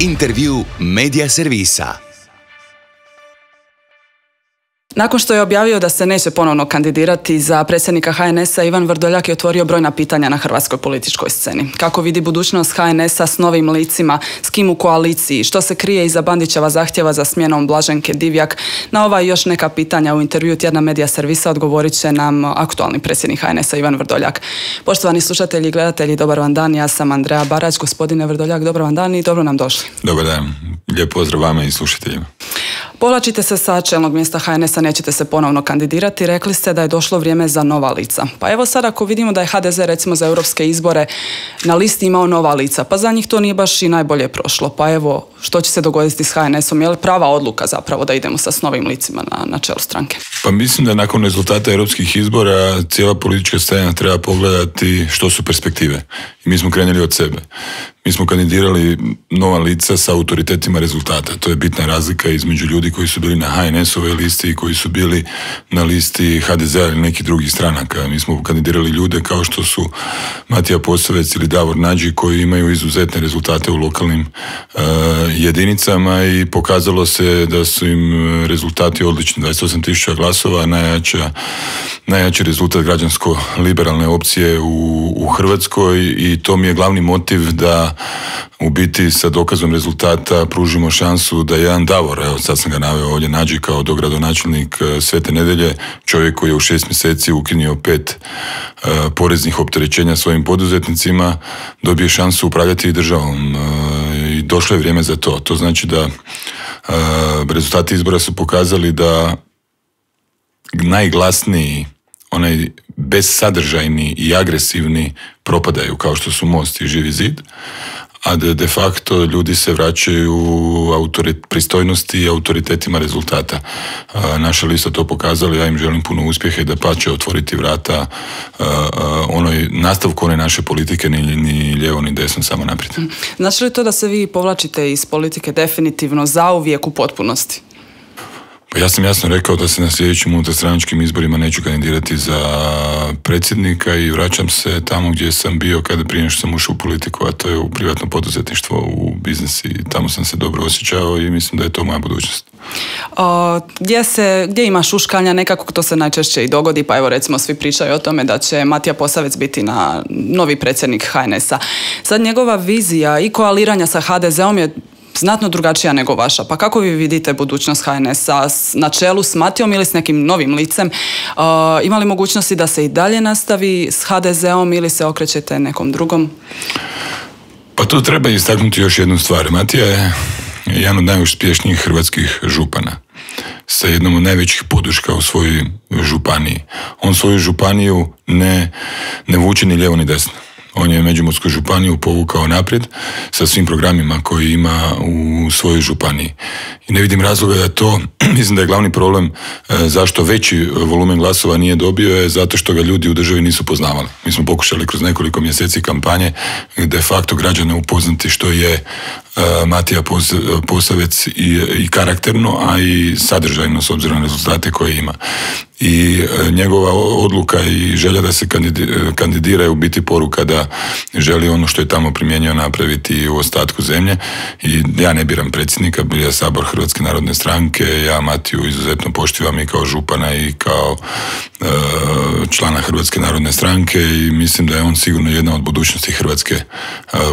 Intervju Medija servisa. Nakon što je objavio da se neće ponovno kandidirati za predsjednika HNS-a, Ivan Vrdoljak je otvorio brojna pitanja na hrvatskoj političkoj sceni. Kako vidi budućnost HNS-a s novim licima, s kim u koaliciji, što se krije iza Bandićeva zahtjeva za smjenom Blaženke Divjak? Na ova i još neka pitanja u intervju tjedna Medija servisa odgovorit će nam aktualni predsjednik HNS-a Ivan Vrdoljak. Poštovani slušatelji i gledatelji, dobar vam dan, ja sam Andreja Barać. Gospodine Vrdoljak, dobar vam dan i dobro nam došli. Dobar dan, lijep pozdrav vama i slušateljima. Povlačite se sa čelnog mjesta HNS-a, nećete se ponovno kandidirati, rekli ste da je došlo vrijeme za nova lica. Pa evo sad ako vidimo da je HDZ recimo za europske izbore na listi imao nova lica, pa za njih to nije baš i najbolje prošlo. Pa evo, što će se dogoditi s HNS-om? Je li prava odluka zapravo da idemo sa novim licima na čelu stranke? Pa mislim da nakon rezultata europskih izbora cijela politička scena treba pogledati što su perspektive. I mi smo krenuli od sebe. Mi smo kandidirali nova lica sa autoritetima rezultata. To je bitna razlika između ljudi koji su bili na HNS-ove listi i koji su bili na listi HDZ-a ili nekih drugih stranaka. Mi smo kandidirali ljude kao što su Matija Posavec ili Davor Nađi koji imaju izuzetne rezultate u lokalnim jedinicama i pokazalo se da su im rezultati odlični. 28.000 glasova, najjači rezultat građansko-liberalne opcije u Hrvatskoj i to mi je glavni motiv da u biti sa dokazom rezultata pružimo šansu da jedan Davor, evo sad sam ga naveo ovdje, Nađi kao dogradonačelnik Svete Nedelje, čovjek koji je u 6 mjeseci ukinuo 5 poreznih opterećenja svojim poduzetnicima, dobije šansu upravljati i državom i došlo je vrijeme za to. To znači da rezultati izbora su pokazali da najglasniji, onaj bezsadržajni i agresivni propadaju kao što su Most i Živi zid, a da de facto ljudi se vraćaju pristojnosti i autoritetima rezultata. Naša lista to pokazala, ja im želim puno uspjeha i da pače otvoriti vrata nastavku one naše politike, ni lijevo ni desno, samo naprijed. Znači li to da se vi povlačite iz politike definitivno zauvijek u potpunosti? Ja sam jasno rekao da se na sljedećim unutarstranačkim izborima neću kandidirati za predsjednika i vraćam se tamo gdje sam bio prije nego što sam ušao u politiku, a to je u privatno poduzetništvo, u biznis i tamo sam se dobro osjećao i mislim da je to moja budućnost. Gdje ima šuškanja, nekako to se najčešće i dogodi, pa evo recimo svi pričaju o tome da će Matija Posavec biti novi predsjednik HNS-a. Sad njegova vizija i koaliranja sa HDZ-om je znatno drugačija nego vaša. Pa kako vi vidite budućnost HNS-a na čelu s Matijom ili s nekim novim licem? Ima li mogućnosti da se i dalje nastavi s HDZ-om ili se okrećete nekom drugom? Pa tu treba istaknuti još jednu stvar. Matija je jedan od najuspješnijih hrvatskih župana sa jednom od najvećih podrška u svojoj županiji. On svoju županiju ne vuče ni lijevo ni desno. On je Međimursku županiju povukao naprijed sa svim programima koji ima u svojoj županiji. I ne vidim razloga da to, mislim da je glavni problem zašto veći volumen glasova nije dobio je zato što ga ljudi u državi nisu poznavali. Mi smo pokušali kroz nekoliko mjeseci kampanje de facto građane upoznati što je Matija Posavec i karakterno, a i sadržajno s obzirom na rezultate koje ima. I njegova odluka i želja da se kandidira je u biti poruka da želi ono što je tamo primijenio napraviti u ostatku zemlje. I ja ne biram predsjednika, bira Sabor Hrvatske narodne stranke, ja Matiju izuzetno poštivam i kao župana i kao člana Hrvatske narodne stranke i mislim da je on sigurno jedna od budućnosti hrvatske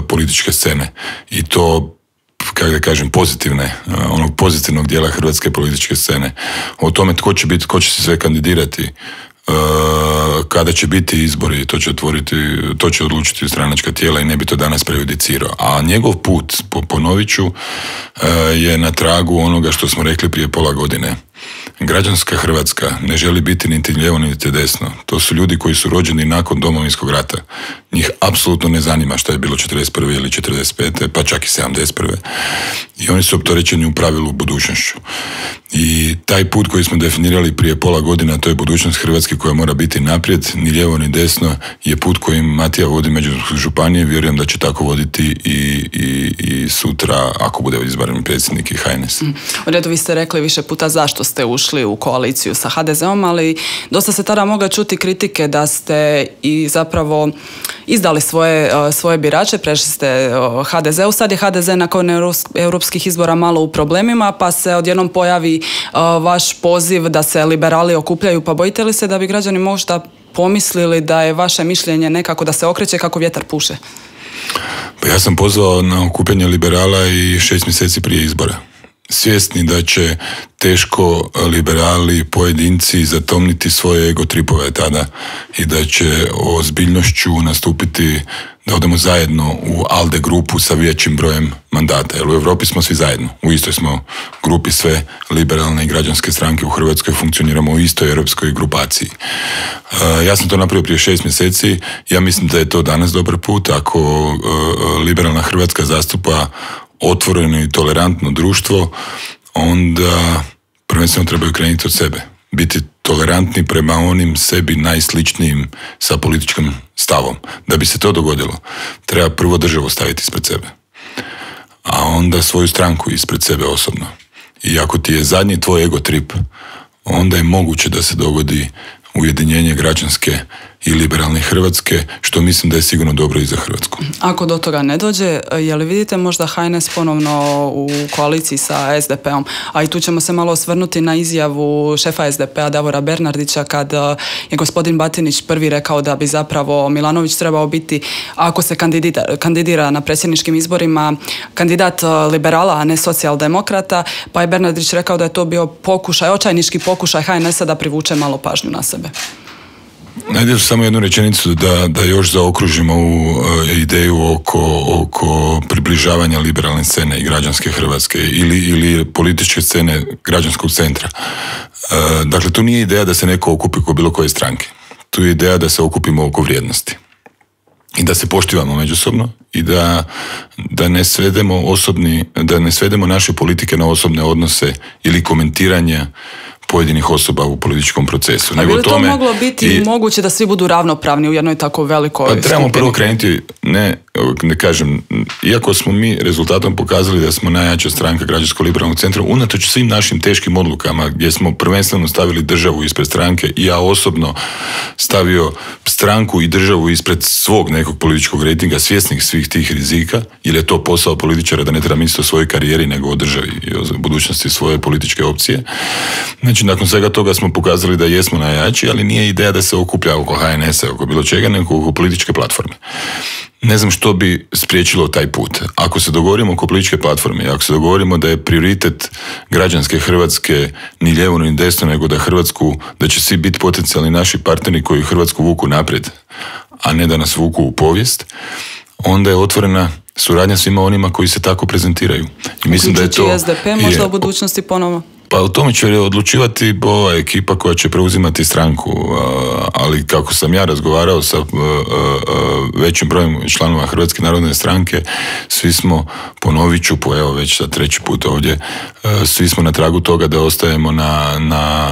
političke scene. I to, kako da kažem, onog pozitivnog dijela hrvatske političke scene. O tome tko će se sve kandidirati, kada će biti izbori, to će odlučiti stranačka tijela i ne bi to danas prejudicirao. A njegov put, ponovit ću, je na tragu onoga što smo rekli prije pola godine. Građanska Hrvatska ne želi biti niti lijevo niti desno. To su ljudi koji su rođeni nakon Domovinskog rata. Njih apsolutno ne zanima šta je bilo 41. ili 45. pa čak i 71. I oni su opterećeni u pravilu budućnošću. I taj put koji smo definirali prije pola godina, to je budućnost Hrvatske koja mora biti naprijed, ni lijevo ni desno, je put kojim Matija vodi Međimurske županije. Vjerujem da će tako voditi i sutra, ako bude izabran predsjednik i HNS. U redu, vi ste rekli više puta zašto ste ušli ušli u koaliciju sa HDZ-om, ali dosta se tada mogla čuti kritike da ste i zapravo izdali svoje birače, prešli ste HDZ-u. Sad je HDZ nakon europskih izbora malo u problemima, pa se odjednom pojavi vaš poziv da se liberali okupljaju. Pa bojite li se da bi građani možda pomislili da je vaše mišljenje nekako da se okreće kako vjetar puše? Pa ja sam pozvao na okupljanje liberala i 6 mjeseci prije izbora. Svjesni da će teško liberali, pojedinci zatomniti svoje ego tripove tada i da će ozbiljnošću nastupiti da odemo zajedno u ALDE grupu sa većim brojem mandata. Jer u Europi smo svi zajedno. U istoj smo grupi, sve liberalne i građanske stranke u Hrvatskoj funkcioniramo u istoj europskoj grupaciji. Ja sam to napravio prije 6 mjeseci. Ja mislim da je to danas dobar put. Ako liberalna Hrvatska zastupa otvoreno i tolerantno društvo, onda prvenstveno trebaju krenuti od sebe. Biti tolerantni prema onim sebi najsličnijim sa političkim stavom. Da bi se to dogodilo, treba prvo državu staviti ispred sebe, a onda svoju stranku ispred sebe osobno. I ako ti je zadnji tvoj ego trip, onda je moguće da se dogodi ujedinjenje građanske i liberalne Hrvatske, što mislim da je sigurno dobro i za Hrvatsku. Ako do toga ne dođe, je li vidite možda HNS ponovno u koaliciji sa SDP-om? A i tu ćemo se malo osvrnuti na izjavu šefa SDP-a Davora Bernardića kad je gospodin Batinić prvi rekao da bi zapravo Milanović trebao biti, ako se kandidira na predsjedničkim izborima, kandidat liberala, a ne socijaldemokrata, pa je Bernardić rekao da je to bio očajnički pokušaj HNS-a da privuče malo pažnju na sebe. Najde samo jednu rečenicu da još zaokružimo ovu ideju oko približavanja liberalne scene i građanske Hrvatske ili političke scene građanskog centra. Dakle, tu nije ideja da se neko okupi oko bilo koje stranke. Tu je ideja da se okupimo oko vrijednosti. I da se poštivamo međusobno i da ne svedemo naše politike na osobne odnose ili komentiranje pojedinih osoba u političkom procesu. A bi li to moglo biti moguće da svi budu ravnopravni u jednoj tako velikoj skupini? Pa trebamo prvo krenuti, ne kažem, iako smo mi rezultatom pokazali da smo najjača stranka građansko-liberalnog centra, unatoč svim našim teškim odlukama gdje smo prvenstveno stavili državu ispred stranke i ja osobno stavio stranku i državu ispred svog nekog političkog rejtinga, svjesnih svih tih rizika, jer je to posao političara da ne treba misliti o svojoj karijeri nego o državi i o budućnosti svoje političke opcije. Znači, nakon svega toga smo pokazali da jesmo najjači, ali nije ideja da se okuplja oko HNS-a, oko bilo čega, nego oko političke platforme. Ne znam što bi spriječilo taj put. Ako se dogovorimo oko političke platforme, ako se dogovorimo da je prioritet građanske Hrvatske ni lijevo ni desno, nego da će svi biti potencijalni naši partneri koji Hrvatsku vuku naprijed, a ne da nas vuku u povijest, onda je otvorena suradnja svima onima koji se tako prezentiraju. I mislim da je to SDP možda u budućnosti ponovo. Pa o tome će odlučivati ova ekipa koja će preuzimati stranku, ali kako sam ja razgovarao sa većim brojem članova Hrvatske narodne stranke, svi smo, ponovit ću evo već sad 3. put ovdje, svi smo na tragu toga da ostajemo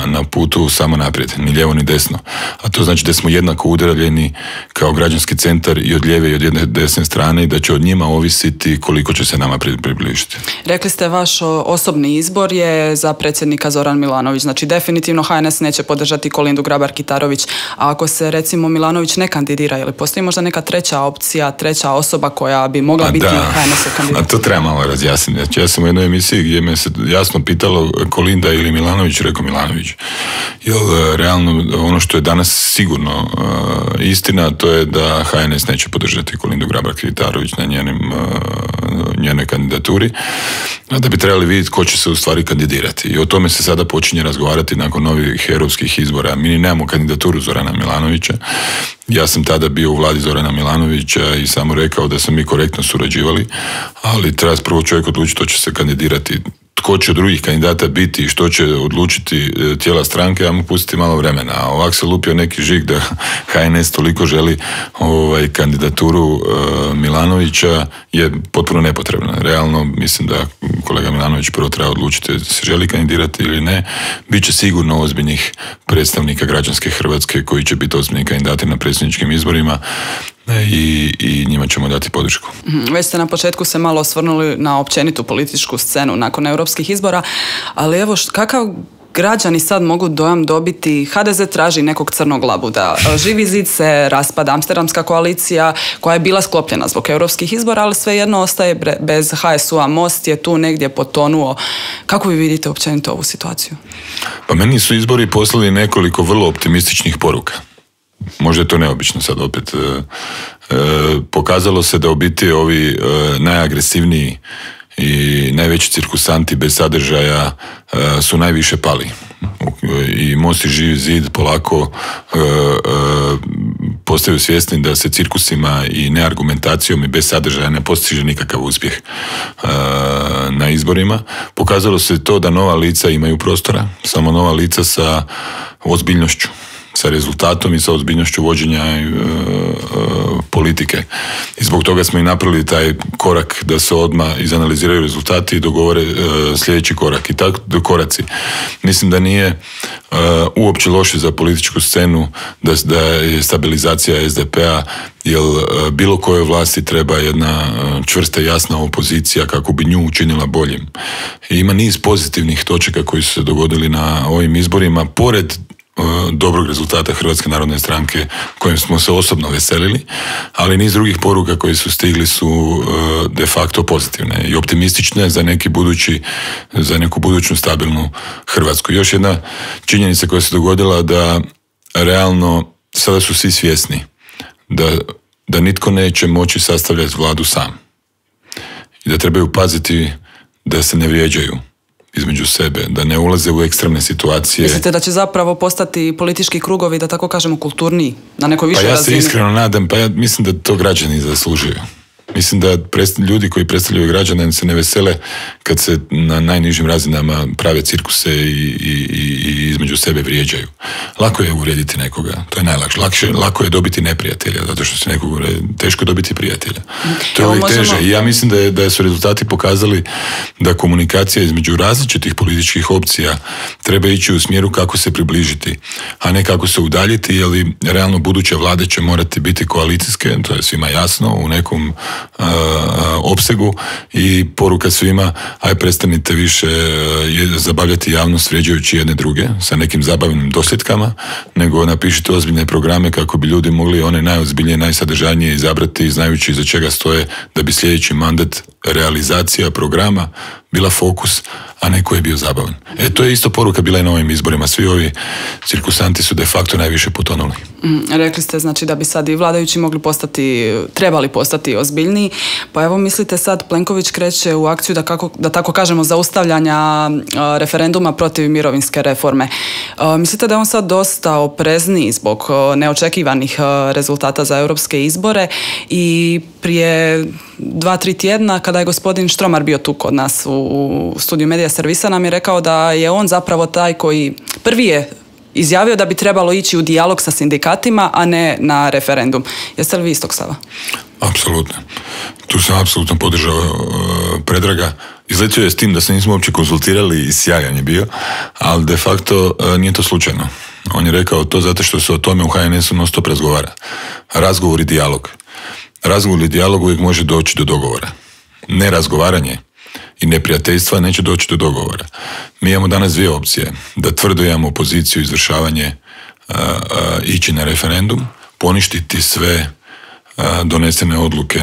na putu samo naprijed, ni lijevo ni desno. A to znači da smo jednako udaljeni kao građanski centar i od lijeve i od jedne desne strane i da će od njima ovisiti koliko će se nama približiti. Rekli ste vaš osobni izbor je za predsjednika Zoran Milanović. Znači definitivno HNS neće podržati Kolindu Grabar-Kitarović. A ako se recimo Milanović ne kandidira, ili postoji možda neka treća opcija, treća osoba koja bi mogla biti HNS-ov kandidat? A to treba malo razjasniti. Znači, ja sam u jednoj emisiji gdje me se jasno pitalo Kolinda ili Milanović, rekao Milanović. Jer realno ono što je danas sigurno istina, to je da HNS neće podržati Kolindu Grabar-Kitarović na njenoj kandidaturi, a da bi trebali vidjeti ko će se u stvari kandidirati. I o tome se sada počinje razgovarati nakon novih europskih izbora. Mi nemamo kandidaturu Zorana Milanovića. Ja sam tada bio u vladi Zorana Milanovića i samo rekao da smo mi korektno surađivali, ali treba prvo čovjek odlučiti što će se kandidirati. Tko će od drugih kandidata biti i što će odlučiti tijela stranke, ja mu pustiti malo vremena. A ovak se lupio neki žig da HNS toliko želi kandidaturu Milanovića je potpuno nepotrebna. Realno mislim da kolega Milanović prvo treba odlučiti da se želi kandidirati ili ne. Biće sigurno ozbiljnih predstavnika građanske Hrvatske koji će biti ozbiljni kandidati na predsjedničkim izborima i njima ćemo dati podršku. Već ste na početku se malo osvrnuli na općenitu političku scenu nakon europskih izbora, ali evo kakav građani sad mogu dojam dobiti, HDZ traži nekog crnog labuda, Živi zid se raspada, Amsterdamska koalicija koja je bila sklopljena zbog europskih izbora, ali svejedno ostaje bez HSU-a, Most je tu negdje potonuo. Kako vi vidite općenito ovu situaciju? Pa meni su izbori poslali nekoliko vrlo optimističnih poruka. Možda je to neobično sad opet. Pokazalo se da u biti ovi najagresivniji i najveći cirkusanti bez sadržaja su najviše pali. I Most i Živi zid polako postaju svjesni da se cirkusima i neargumentacijom i bez sadržaja ne postiže nikakav uspjeh na izborima. Pokazalo se to da nova lica imaju prostora, samo nova lica sa ozbiljnošću, sa rezultatom i sa ozbiljnošću vođenja politike. I zbog toga smo i napravili taj korak da se odmah izanaliziraju rezultati i dogovore sljedeći korak. I tako koraci. Mislim da nije uopće loše za političku scenu da je stabilizacija SDP-a, jer bilo kojoj vlasti treba jedna čvrsta, jasna opozicija kako bi nju učinila boljim. I ima niz pozitivnih točaka koji su se dogodili na ovim izborima, pored dobrog rezultata Hrvatske narodne stranke kojim smo se osobno veselili, ali niz drugih poruka koji su stigli su de facto pozitivne i optimistične za neku buduću stabilnu Hrvatsku. Još jedna činjenica koja se dogodila da realno sada su svi svjesni da nitko neće moći sastavljati vladu sam i da trebaju paziti da se ne vrijeđaju između sebe, da ne ulaze u ekstremne situacije. Mislite da će zapravo postati politički krugovi, da tako kažemo, kulturniji, na nekoj višoj razini? Pa ja se iskreno nadam, ja mislim da to građani zaslužuju. Mislim da ljudi koji predstavljaju građane se ne vesele kad se na najnižim razinama prave cirkuse i između sebe vrijeđaju. Lako je uvrijediti nekoga, to je najlakše. Lako je dobiti neprijatelja, zato što se nekog teško dobiti prijatelja. To je uvijek teže. I ja mislim da su rezultati pokazali da komunikacija između različitih političkih opcija treba ići u smjeru kako se približiti, a ne kako se udaljiti, jer realno buduće vlade će morati biti koalicijske, to je svima jasno, u nekom opsegu, i poruka svima: aj prestanite više zabavljati javnost vrijeđajući jedne druge sa nekim zabavnim dosljedkama, nego napišite ozbiljne programe kako bi ljudi mogli one najozbiljnije, najsadržajnije izabrati, znajući iza čega stoje, da bi sljedeći mandat, realizacija programa bila fokus, a ne koji je bio zabavan. To je isto poruka bila i na ovim izborima. Svi ovi cirkusanti su de facto najviše potonuli. Rekli ste znači da bi sad i vladajući trebali postati ozbiljniji. Pa evo, mislite sad Plenković kreće u akciju da tako kažemo zaustavljanja referenduma protiv mirovinske reforme. Mislite da je on sad dosta oprezniji zbog neočekivanih rezultata za europske izbore? I prije 2-3 tjedna kada je gospodin Štromar bio tu kod nas u studiju Medija servisa, nam je rekao da je on zapravo taj koji prvi je izjavio da bi trebalo ići u dijalog sa sindikatima, a ne na referendum. Jeste li vi istog stava? Apsolutno. Tu sam apsolutno podržao Predraga. Izletio je s tim da se nismo uopće konzultirali i sjajan je bio, ali de facto nije to slučajno. On je rekao to zato što se o tome u HNS-u non stop razgovara. Razgovor i dijalog. Razgovor i dijalog uvijek može doći do dogovora. Nerazgovaranje i neprijateljstva neće doći do dogovora. Mi imamo danas dvije opcije. Da tvrdo imamo poziciju izvršavanje, ići na referendum, poništiti sve donesene odluke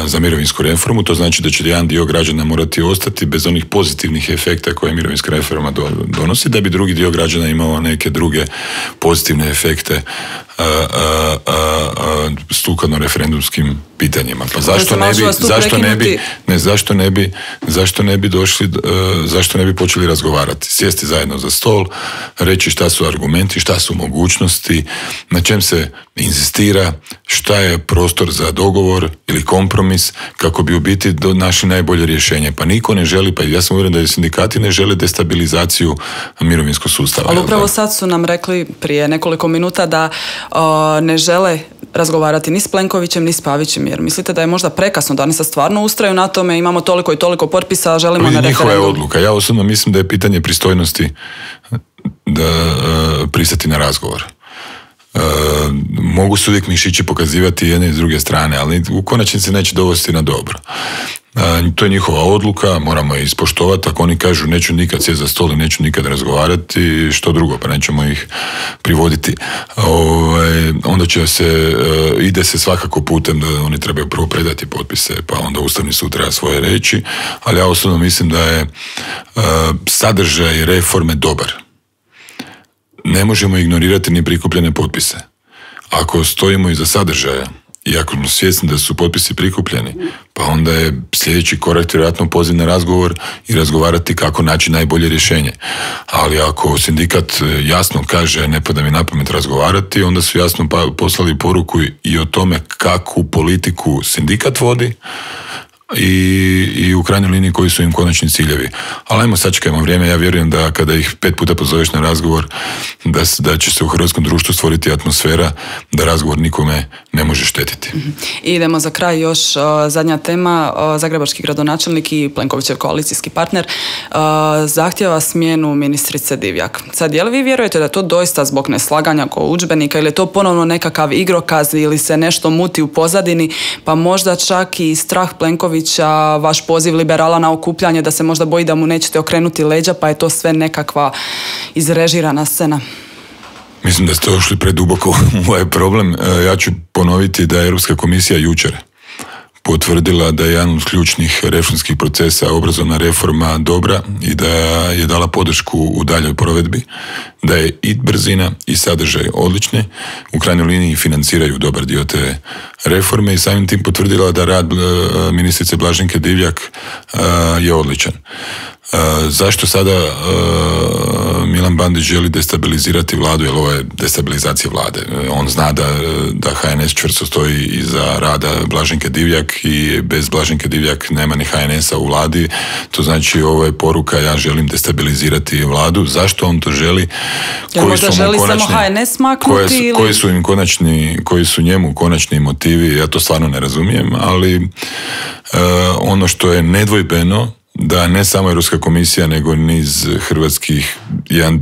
za mirovinsku reformu. To znači da će jedan dio građana morati ostati bez onih pozitivnih efekta koje mirovinska reforma donosi, da bi drugi dio građana imao neke druge pozitivne efekte sukladno referendumskim pitanjima. Pa zašto ne bi počeli razgovarati? Sjesti zajedno za stol, reći šta su argumenti, šta su mogućnosti, na čem se inzistira, šta je prostor za dogovor ili kompromis, kako bi u biti našli najbolje rješenje. Pa niko ne želi, pa ja sam uvjeren da i sindikati ne žele destabilizaciju mirovinskog sustava. Ali upravo sad su nam rekli prije nekoliko minuta da ne žele razgovarati ni s Plenkovićem ni s Pavićem, jer mislite da je možda prekasno, da oni sad stvarno ustraju na tome, imamo toliko i toliko potpisa, želimo na referendum? Njihova je odluka. Ja osobno mislim da je pitanje pristojnosti da pristati na razgovor. Mogu se uvijek mišići pokazivati jedne i s druge strane, ali u konačnici neće dovesti na dobro. To je njihova odluka, moramo je ispoštovati. Ako oni kažu neću nikad sjeti za stol i neću nikad razgovarati, što drugo, pa nećemo ih privoditi. Onda ide se svakako putem da oni trebaju prvo predati potpise, pa onda Ustavni sud treba svoje reći, ali ja osobno mislim da je sadržaj reforme dobar. Ne možemo ignorirati ni prikupljene potpise. Ako stojimo iza sadržaja i ako smo svjesni da su potpisi prikupljeni, pa onda je sljedeći korak vjerojatno poziv na razgovor i razgovarati kako naći najbolje rješenje. Ali ako sindikat jasno kaže ne pada mi na pamet razgovarati, onda su jasno poslali poruku i o tome kakvu politiku sindikat vodi i u krajnjoj liniji koji su im konačni ciljevi. Ali ajmo sačekajmo vrijeme, ja vjerujem da kada ih 5 puta pozoveš na razgovor, da će se u hrvatskom društvu stvoriti atmosfera da razgovor nikome ne može štetiti. I idemo za kraj još zadnja tema. Zagrebački gradonačelnik i Plenkovićev koalicijski partner zahtjeva smjenu ministrice Divjak. Sad, je li vi vjerujete da je to doista zbog neslaganja oko udžbenika ili je to ponovno nekakav igrokaz ili se nešto muti u pozadini, pa možda čak i strah Plenkovića, vaš poziv liberala na okupljanje, da se možda boji da mu nećete okrenuti leđa, pa je to sve nekakva izrežirana scena? Mislim da ste došli preduboko u ovaj problem. Ja ću ponoviti da je Europska komisija jučer potvrdila da je jedan od ključnih reformskih procesa obrazovna reforma dobra i da je dala podršku u daljoj provedbi, da je i brzina i sadržaj odlični, u krajnjoj liniji financiraju dobar dio te reforme i samim tim potvrdila da rad ministrice Blaženke Divjak je odličan. Zašto sada Milan Bandić želi destabilizirati vladu, jer ovo je destabilizacija vlade. On zna da HNS čvrsto stoji iza rada Blaženke Divjak i bez Blaženke Divjak nema ni HNS-a u vladi. To znači ovo je poruka, ja želim destabilizirati vladu. Zašto on to želi? Možda želi samo HNS maknuti? Koji su njemu konačni motivi, ja to stvarno ne razumijem, ali ono što je nedvojbeno da ne samo Europska komisija, nego niz hrvatskih, jedan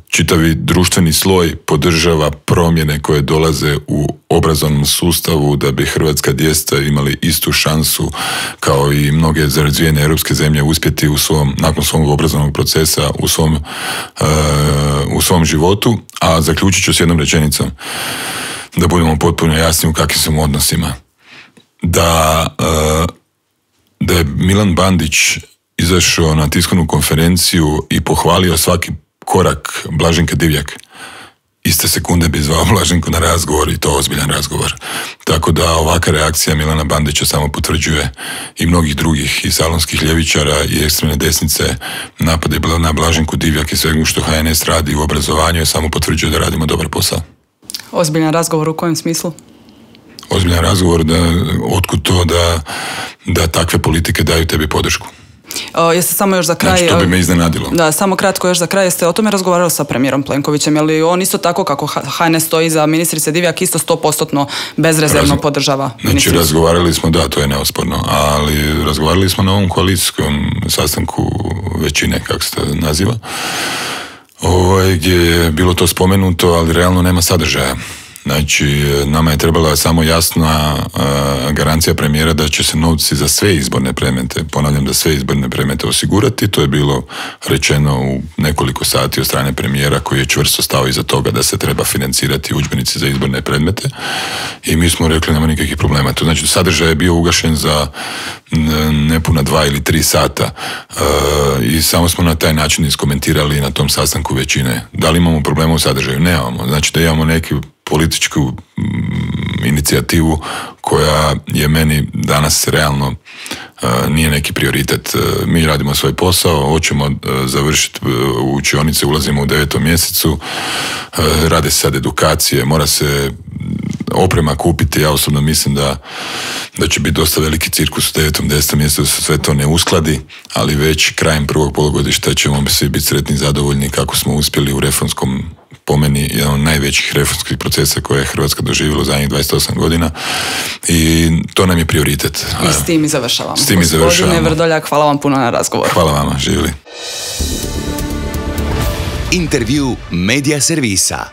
čitavi društveni sloj podržava promjene koje dolaze u obrazovnom sustavu da bi hrvatska djeca imali istu šansu kao i mnoge razvijene europske zemlje uspjeti nakon svog obrazovnog procesa u svom životu. A zaključit ću s jednom rečenicom, da budemo potpuno jasni u kakvim smo odnosima. Da je Milan Bandić izašao na tiskovnu konferenciju i pohvalio svaki korak Blaženke Divjak, iste sekunde bi zvao Blaženku na razgovor i to ozbiljan razgovor. Tako da ovakva reakcija Milana Bandića samo potvrđuje i mnogih drugih i salonskih ljevičara i ekstremne desnice napade na Blaženku Divjak i svega što HNS radi u obrazovanju je samo potvrđuje da radimo dobar posao. Ozbiljan razgovor u kojem smislu? Ozbiljan razgovor otkud to da takve politike daju tebi podršku. Jeste samo još za kraj... Znači, to bi me iznenadilo. Da, samo kratko još za kraj. Jeste o tome razgovarali sa premijerom Plenkovićem? Je li on isto tako kako HNS stoji za ministrice Divjak isto 100% bezrezervno podržava ministricu? Znači, razgovarali smo, da, to je neosporno, ali razgovarali smo na ovom koalicijskom sastanku većine, kako se to naziva, gdje je bilo to spomenuto, ali realno nema sadržaja. Znači, nama je trebala samo jasna garancija premijera da će se novci za sve izborne predmete, ponavljam da sve izborne predmete osigurati. To je bilo rečeno u nekoliko sati od strane premijera koji je čvrsto stao iza toga da se treba financirati udžbenici za izborne predmete i mi smo rekli nema nikakvih problema. To znači, sadržaj je bio ugašen za nepuna 2 ili 3 sata i samo smo na taj način iskomentirali na tom sastanku većine. Da li imamo problema u sadržaju? Nemamo. Znači da imamo neki političku inicijativu koja je meni danas realno nije neki prioritet. Mi radimo svoj posao, hoćemo završiti u učionice, ulazimo u 9. mjesecu, rade se sad edukacije, mora se oprema kupiti. Ja osobno mislim da će biti dosta veliki cirkus u 9. 10. mjesecu da se sve to ne uskladi, ali već krajem prvog polugodišta ćemo svi biti sretni i zadovoljni kako smo uspjeli u reformskom, po meni, jedan od najvećih reformskih procesa koje je Hrvatska doživjela u zadnjih 28 godina i to nam je prioritet. I s tim i završavamo. Gospodine Vrdoljak, hvala vam puno na razgovor. Hvala vama, živjeli. Intervju Media servisa.